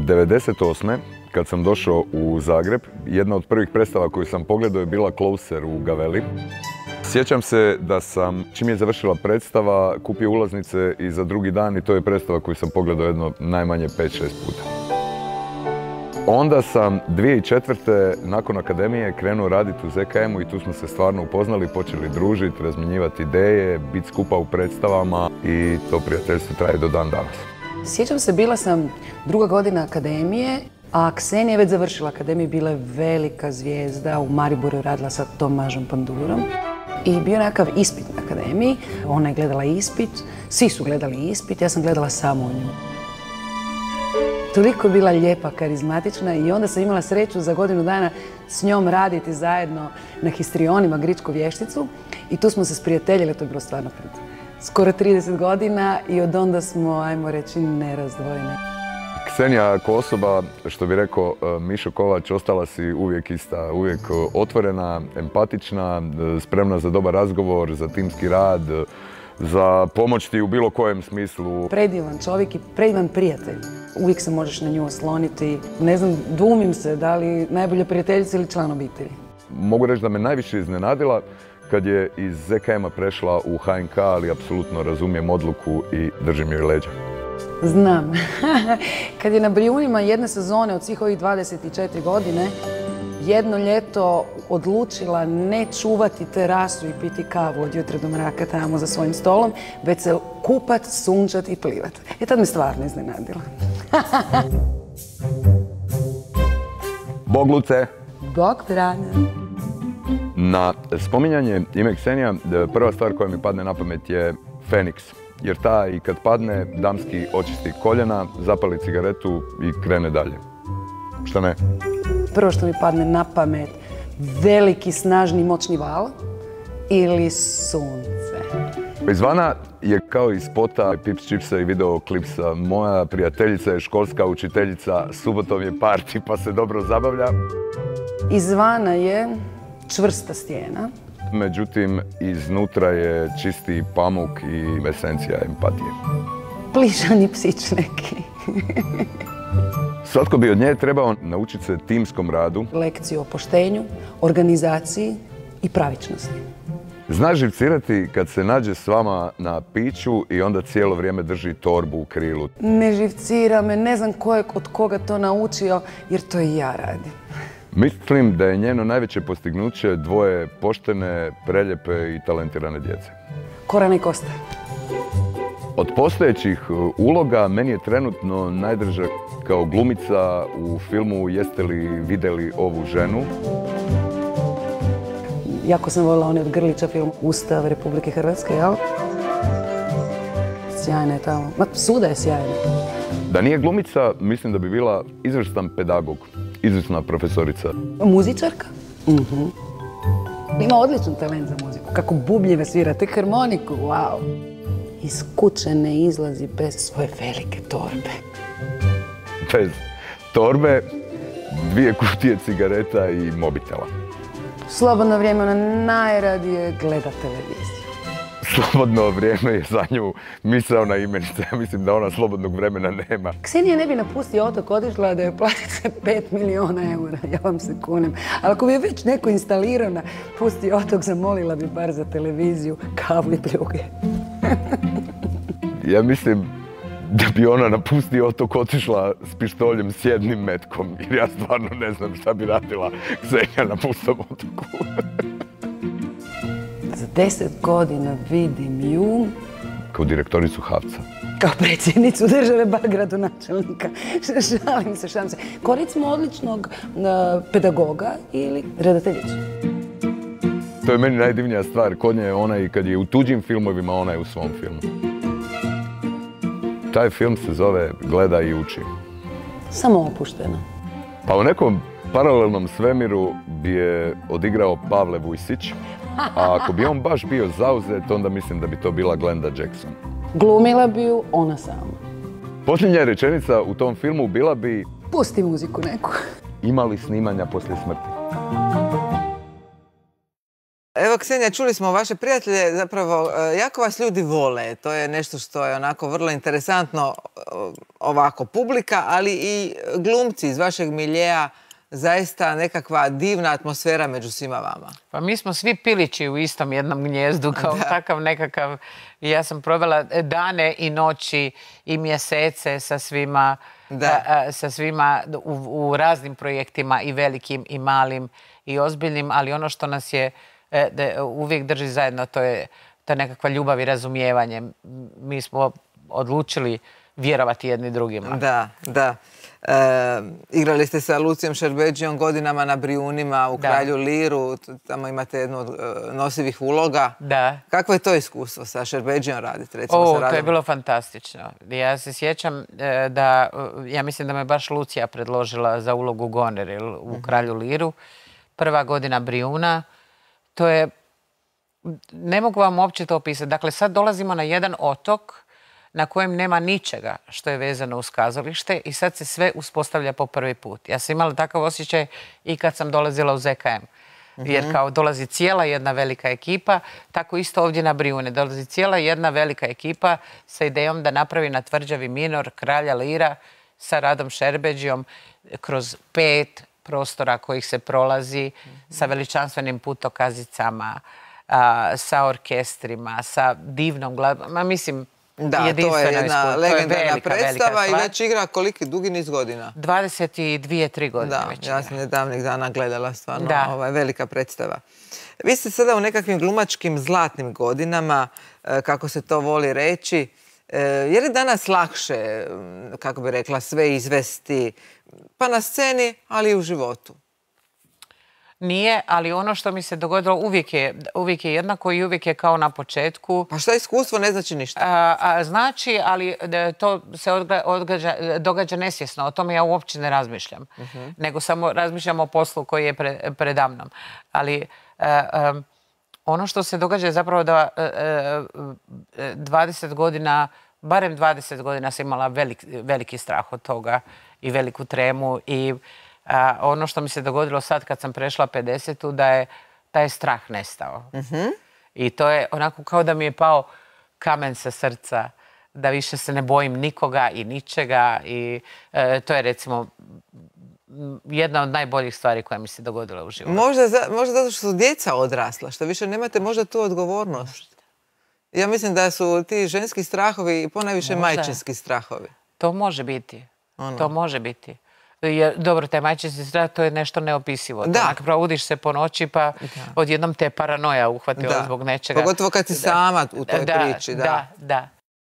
devedeset osme kad sam došao u Zagreb, jedna od prvih predstava koju sam pogledao je bila Closer u Gaveli. Sjećam se da sam, čim je završila predstava, kupio ulaznice i za drugi dan i to je predstava koju sam pogledao jedno najmanje pet šest puta. Onda sam dvije tisuće četvrte nakon akademije krenuo raditi u Z K M-u i tu smo se stvarno upoznali, počeli družiti, razmjenjivati ideje, biti skupa u predstavama i to prijateljstvo traje do dan danas. Sjećam se, bila sam druga godina akademije, a Ksenija je već završila akademiju, bila je velika zvijezda, u Mariboru radila sa Tomažom Pandurom. I bio nekakav ispit na akademiji, ona je gledala ispit, svi su gledali ispit, ja sam gledala samo nju. Toliko je bila lijepa, karizmatična i onda sam imala sreću za godinu dana s njom raditi zajedno na histrionima Gričku vješticu i tu smo se sprijateljili, to je bilo stvarno pred skoro trideset godina i od onda smo, ajmo reći, nerazdvojene. Ksenija kao osoba, što bi rekao Mišo Kovač, ostala si uvijek ista, uvijek otvorena, empatična, spremna za dobar razgovor, za timski rad, za pomoć ti u bilo kojem smislu. Predivan čovjek i predivan prijatelj. Uvijek se možeš na nju osloniti. Ne znam, dvumim se da li najbolja prijateljica ili član obitelji. Mogu reći da me najviše iznenadila kad je iz Z K M-a prešla u H N K, ali apsolutno razumijem odluku i držim joj leđa. Znam. Kad je na Brijunima jedne sezone od svih ovih dvadeset četiri godine jedno ljeto odlučila ne čuvati terasu i piti kavu od jutra do mraka tamo za svojim stolom, već se kupat, sunčat i plivat. I tad me stvarno iznenadila. Bog Luce! Bog Franja! Na spominjanje ime Ksenija, prva stvar koja mi padne na pamet je Feniks. jer ta i kad padne, damski očisti koljena, zapali cigaretu i krene dalje. Šta ne? Prvo što mi padne na pamet, veliki, snažni, moćni val ili sunce. Izvana je kao iz spota Pips Chipsa i videoklipsa. Moja prijateljica je školska učiteljica, subotom je parti pa se dobro zabavlja. Izvana je čvrsta stijena. Međutim, iznutra je čisti pamuk i esencija empatije. Plišani psić neki. Svatko bi od nje trebao naučiti se timskom radu. Lekciju o poštenju, organizaciji i pravičnosti. Zna živcirati kad se nađe s vama na piću i onda cijelo vrijeme drži torbu u krilu. Ne živcira me, ne znam ko je od koga to naučio, jer to i ja radim. Mislim da je njeno najveće postignuće dvoje poštene, preljepe i talentirane djece. Korana i Kosta. Od postojećih uloga meni je trenutno najdraža kao glumica u filmu Jeste li vidjeli ovu ženu? Jako sam voljela onaj od Grlića film Ustav Republike Hrvatske, jel? Sjajna je tamo. Ma, svuda je sjajna. Da nije glumica, mislim da bi bila izvrstan pedagog, izvrsna profesorica. Muzičarka? Mhm. Ima odličan talent za muziku. Kako bubnjeve svira, te harmoniku, wow. Iz kuće ne izlazi bez svoje velike torbe. Bez torbe, dvije kutije cigareta i mobitela. Slobodno vrijeme ona najradije gleda televiziju. Slobodno vrijeme je za nju misaona imenica. Ja mislim da ona slobodnog vremena nema. Ksenija ne bi napustio otok, otišla da je platice pet milijuna eura, ja vam se kunem. Ali ako bi je već neko instalirao na pusti otok, zamolila bi bar za televiziju, kavu i pljuge. Ja mislim da bi ona na pusti otok otišla s pištoljem s jednim metkom, jer ja stvarno ne znam šta bi radila Ksenija na pustom otoku. Za deset godina vidim ju... Kao direktoricu Havca. Kao predsjednicu države, bar gradonačelnika. Šalim se, šalim se. Kao recimo odličnog pedagoga ili redateljicu. To je meni najdivnija stvar. Kod nje je ona i kad je u tuđim filmovima, ona je u svom filmu. Taj film se zove Gleda i uči. Samo opušteno. Pa u nekom paralelnom svemiru bi je odigrao Pavle Vujsić, a ako bi on baš bio zauzet, onda mislim da bi to bila Glenda Jackson. Glumila bi ju ona sama. Posljednja rečenica u tom filmu bila bi... Pusti muziku neku. Imali snimanja poslije smrti. Evo, Ksenija, čuli smo vaše prijatelje, zapravo jako vas ljudi vole. To je nešto što je onako vrlo interesantno, ovako publika, ali i glumci iz vašeg miljeja, zaista nekakva divna atmosfera među svima vama. Pa mi smo svi pilići u istom jednom gnjezdu, kao takav nekakav. Ja sam provela dane i noći i mjesece sa svima, sa svima u, u raznim projektima, i velikim i malim i ozbiljnim, ali ono što nas je uvijek drži zajedno, to je ta nekakva ljubav i razumijevanje. Mi smo odlučili vjerovati jedni drugima. Da, da. E, igrali ste sa Lucijom Šerbedžijom godinama na Brijunima, u da. Kralju Liru, tamo imate jednu od e, nosivih uloga. Da. Kakvo je to iskustvo sa Šerbedžijom raditi? Recimo, o, sa Radom? To je bilo fantastično. Ja se sjećam e, da, ja mislim da me baš Lucija predložila za ulogu Goner u uh-huh. Kralju Liru. Prva godina Brijuna. To je, ne mogu vam uopće to opisati. Dakle, sad dolazimo na jedan otok na kojem nema ničega što je vezano uz kazalište i sad se sve uspostavlja po prvi put. Ja sam imala takav osjećaj i kad sam dolazila u Z K M. Jer kao dolazi cijela jedna velika ekipa, tako isto ovdje na Brijune. Dolazi cijela jedna velika ekipa sa idejom da napravi na tvrđavi Minor Kralja Lira sa Radom Šerbedžijom kroz pet prostora kojih se prolazi sa veličanstvenim putokazicama, sa orkestrima, sa divnom glazbom. Ma mislim, da, to je jedna legendarna predstava i već igra koliki dugi niz godina? dvadeset dvije, tri godine da, već ja igra. sam nedavnih dana gledala stvarno da. Ovaj, velika predstava. Vi ste sada u nekakvim glumačkim zlatnim godinama, kako se to voli reći. Je li danas lakše, kako bi rekla, sve izvesti pa na sceni, ali i u životu? Nije, ali ono što mi se dogodilo uvijek je, uvijek je jednako i uvijek je kao na početku. Pa šta iskustvo ne znači ništa? A, a, znači, ali to se odga, odgađa, događa nesvjesno. O tome ja uopće ne razmišljam. Uh-huh. Nego samo razmišljam o poslu koji je pre, predamnom. Ali a, a, ono što se događa je zapravo da a, a, dvadeset godina, barem dvadeset godina sam imala velik, veliki strah od toga i veliku tremu i a, ono što mi se dogodilo sad kad sam prešla pedesetu, da je taj strah nestao. Uh-huh. I to je onako kao da mi je pao kamen sa srca, da više se ne bojim nikoga i ničega i e, to je recimo jedna od najboljih stvari koja mi se dogodila u životu. Možda, za, možda zato što su djeca odrasla, što više nemate možda tu odgovornost. Ja mislim da su ti ženski strahovi ponajviše majčinski strahovi. To može biti. Ono. To može biti. Jer, dobro, taj majčinski strah, to je nešto neopisivo. Da. Onak, probudiš se po noći pa da. Odjednom te paranoja uhvatila da. Zbog nečega. Pogotovo kad si da. Sama u toj da, priči. Da, da. da.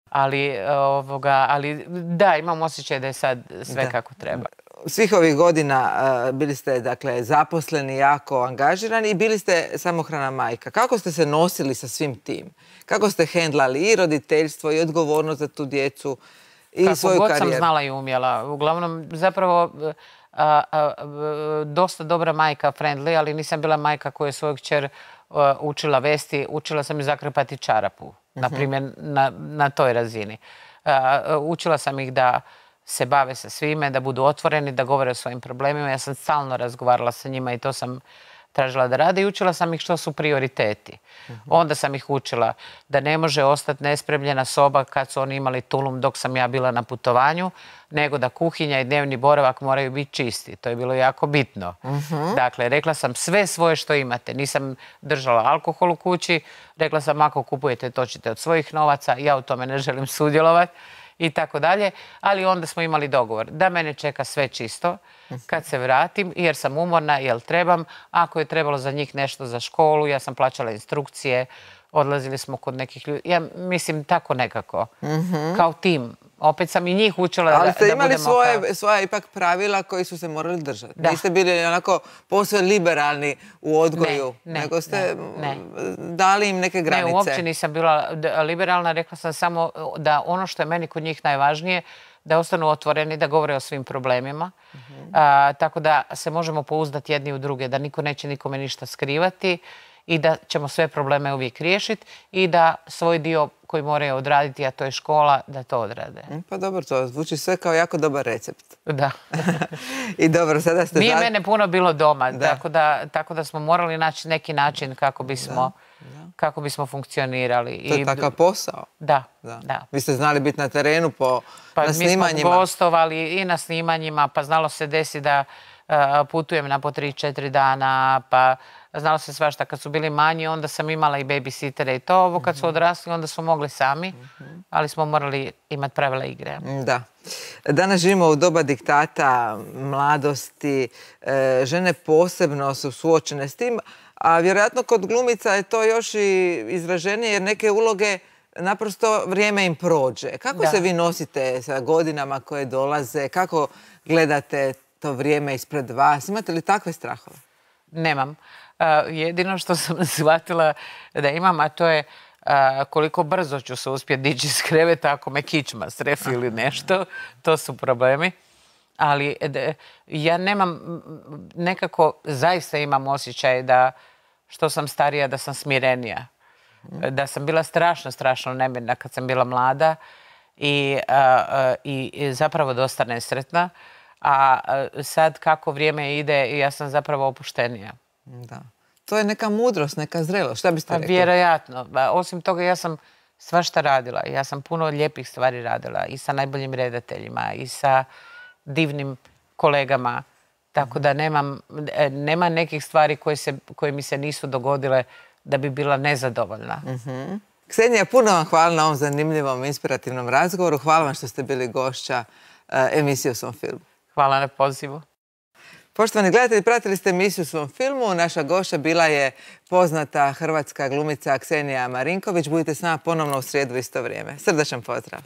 Ali, ovoga, ali da, imam osjećaj da je sad sve da. Kako treba. Svih ovih godina uh, bili ste dakle, zaposleni, jako angažirani i bili ste samohrana majka. Kako ste se nosili sa svim tim? Kako ste hendlali i roditeljstvo i odgovornost za tu djecu i kako svoju god karijeru? Sam znala i umjela. Uglavnom, zapravo, a, a, a, dosta dobra majka, friendly, ali nisam bila majka koja je svoju kćer a, učila vesti. Učila sam i zakrpati čarapu, uh-huh. na primjer, na, na toj razini. A, a, učila sam ih da se bave sa svime, da budu otvoreni, da govore o svojim problemima. Ja sam stalno razgovarala sa njima i to sam tražila da rade i učila sam ih što su prioriteti. Uh-huh. Onda sam ih učila da ne može ostati nespremljena soba kad su oni imali tulum dok sam ja bila na putovanju, nego da kuhinja i dnevni boravak moraju biti čisti. To je bilo jako bitno. Uh-huh. Dakle, rekla sam sve svoje što imate. Nisam držala alkohol u kući. Rekla sam ako kupujete, točite od svojih novaca. Ja u tome ne želim sudjelovati. I tako dalje, ali onda smo imali dogovor da mene čeka sve čisto kad se vratim, jer sam umorna, jer trebam. Ako je trebalo za njih nešto za školu, ja sam plaćala instrukcije, odlazili smo kod nekih ljudi. Ja mislim tako nekako, mm-hmm. kao tim. Opet sam i njih učila da, da budemo... Ali ste imali svoje, kao... svoje ipak pravila koji su se morali držati. Da. Niste bili onako posve liberalni u odgoju, ne, ne, nego ste ne, ne. dali im neke granice. Ne, uopće nisam bila liberalna. Rekla sam samo da ono što je meni kod njih najvažnije, da ostanu otvoreni, da govore o svim problemima. Mm-hmm. A, tako da se možemo pouzdati jedni u druge, da niko neće nikome ništa skrivati i da ćemo sve probleme uvijek riješiti i da svoj dio koji moraju odraditi, a to je škola, da to odrade. Pa dobro, to zvuči sve kao jako dobar recept. Da. I dobro, sada ste... Nije mene puno bilo doma, da. Tako, da, tako da smo morali naći neki način kako bismo, da. Kako bismo funkcionirali. To je I, takav posao. Da, da, da. Vi ste znali biti na terenu po, pa na snimanjima. Mi smo gostovali i na snimanjima, pa znalo se desi da uh, putujem na po tri, četiri dana, pa... Znalo se svašta. Kad su bili manji, onda sam imala i babysitere i to. Ovo kad su odrasli, onda su mogli sami, ali smo morali imati pravila igre. Da. Danas živimo u doba diktata, mladosti. Žene posebno su suočene s tim, a vjerojatno kod glumica je to još i izraženije, jer neke uloge naprosto vrijeme im prođe. Kako da. Se vi nosite sa godinama koje dolaze? Kako gledate to vrijeme ispred vas? Imate li takve strahove? Nemam. Uh, jedino što sam shvatila da imam, a to je uh, koliko brzo ću se uspjeti dići iz kreveta ako me kičma srefi ili nešto. To su problemi. Ali de, ja nemam, nekako zaista imam osjećaj da što sam starija, da sam smirenija. Da sam bila strašno, strašno nemirna kad sam bila mlada i, uh, uh, i zapravo dosta nesretna. A uh, sad kako vrijeme ide, ja sam zapravo opuštenija. Da. To je neka mudrost, neka zrelost. Šta biste rekli? Vjerojatno. Osim toga, ja sam svašta radila. Ja sam puno lijepih stvari radila. I sa najboljim redateljima, i sa divnim kolegama. Tako da nemam, nema nekih stvari koje, se, koje mi se nisu dogodile da bi bila nezadovoljna. Mm-hmm. Ksenija, puno vam hvala na ovom zanimljivom, inspirativnom razgovoru. Hvala vam što ste bili gošća uh, emisije U svom filmu. Hvala na pozivu. Poštovani gledatelji, pratili ste emisiju U svom filmu. Naša gošća bila je poznata hrvatska glumica Ksenija Marinković. Budite s nama ponovno u srijedu isto vrijeme. Srdačan pozdrav.